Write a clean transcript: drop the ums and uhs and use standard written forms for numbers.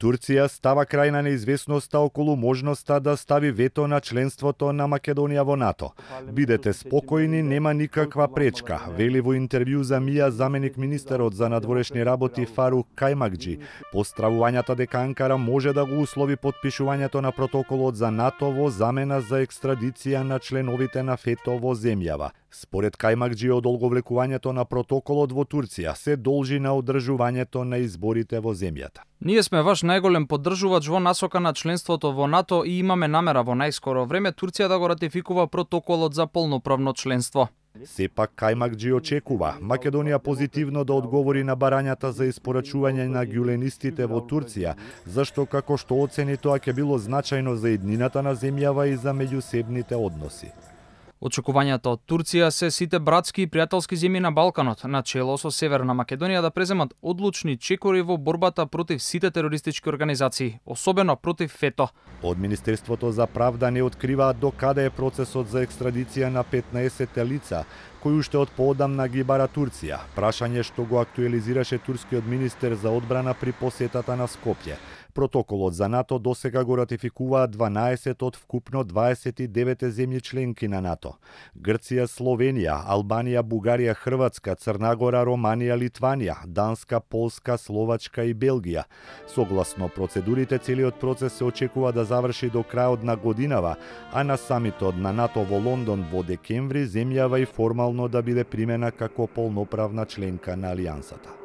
Турција става крај на неизвестноста околу можноста да стави вето на членството на Македонија во НАТО. Бидете спокојни, нема никаква пречка, вели во интервју за МИА заменик министерот за надворешни работи Фарук Кајмакџи, постравувањето дека Анкара може да го услови подпишувањето на протоколот за НАТО во замена за екстрадиција на членовите на ФЕТО во земјава. Според Кајмакџи, одолговлекувањето на протоколот во Турција се должи на одржувањето на изборите во земјата. Ние сме ваш најголем поддржувач во насока на членството во НАТО и имаме намера во најскоро време Турција да го ратификува протоколот за полноправно членство. Сепак Кајмакџи очекува Македонија позитивно да одговори на барањата за испорачување на ѓуленистите во Турција, зашто како што оцени тоа ќе било значајно за еднината на земјава и за меѓусебните односи. Очекувањата од Турција се сите братски и пријателски земји на Балканот, начело со Северна Македонија, да преземат одлучни чекори во борбата против сите терористички организации, особено против ФЕТО. Од Министерството за правда не откриваат до каде е процесот за екстрадиција на 15 лица, кои уште од поодамна ги бара Турција, прашање што го актуелизираше турскиот министер за одбрана при посетата на Скопје. Протоколот за НАТО досега го ратификуваат 12 од вкупно 29 земји членки на НАТО. Грција, Словенија, Албанија, Бугарија, Хрватска, Црна Гора, Романија, Литванија, Данска, Полска, Словачка и Белгија. Согласно процедурите, целиот процес се очекува да заврши до крајот на годинава, а на самитот на НАТО во Лондон во декември земјава и формално да биде примена како полноправна членка на алијансата.